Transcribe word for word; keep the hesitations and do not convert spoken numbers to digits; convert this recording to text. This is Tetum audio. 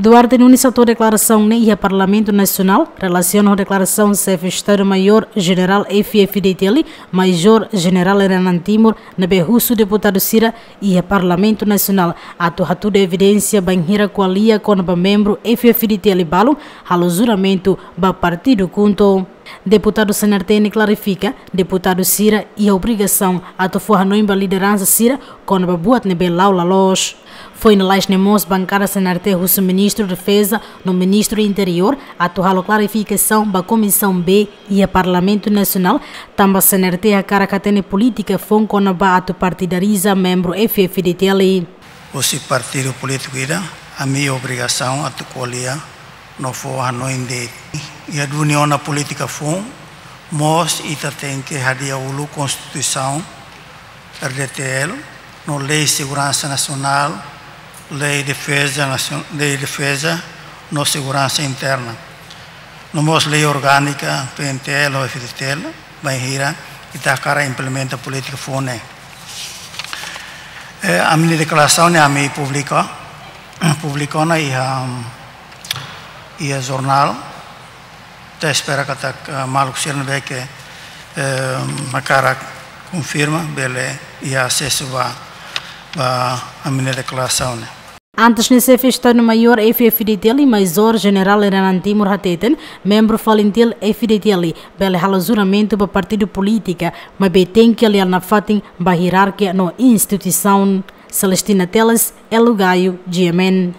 Duarte Nunes hato'o deklarasaun ne'e iha Parlamentu Nasionál, relasiona ho deklarasaun Xefe Estadu Maiór Jenerál F-FDTL, Majór Jenerál Renan Timur, ne'ebé husu deputadu sira iha Parlamentu Nasionál atu hatudu evidénsia bainhira ko'alia kona-ba membru F-FDTL balun halo juramentu ba partidu KHUNTO. Deputadu C N R T ne'e klarifika, deputadu sira iha obrigasaun atu fó hanoin ba lideransa sira kona-ba buat ne'ebé la'o la loos. Foin lalais ne'e mós bankada C N R T husu Ministru Defeza no Ministru Interiór atu halo klarifikasaun ba Komisaun B iha Parlamentu Nasionál, tanba C N R T hakarak hatene polítika foun kona-ba atu partidariza membru F-FDTL. Husi partidu polítiku ida, ami obrigasaun atu ko'alia no fó hanoin de'it. Iha duni ona polítika foun, mós ita tenke hadi'a uluk Konstituisaun R D T L, no Lei Seguransa Nasionál, Lei Defeza Nasion-, Lei Defeza no Seguransa Interna. No mós Lei Orgánika P N T L ho F-FDTL, bainhira ita hakarak implementa polítika foun ne'e. Eh, ami-nia deklarasaun ne'e ami publika, publika ona iha, iha jornál. Ita espera katak, eh, maluk sira ne'ebé ke, eh, hakarak konfirma, bele iha asesu ba, ba ami-nia deklarasaun ne'e. Antes ne'e Xefe Estadu Maiór F-FDTL, Majór Jenerál Renan Timur hateten, membru FALINTIL F-FDTL bele halo juramentu ba partidu polítika, maibé tenke alia nafatin ba ierarkia no instituisaun. Celestina Teles, Elo Gayo, G M N.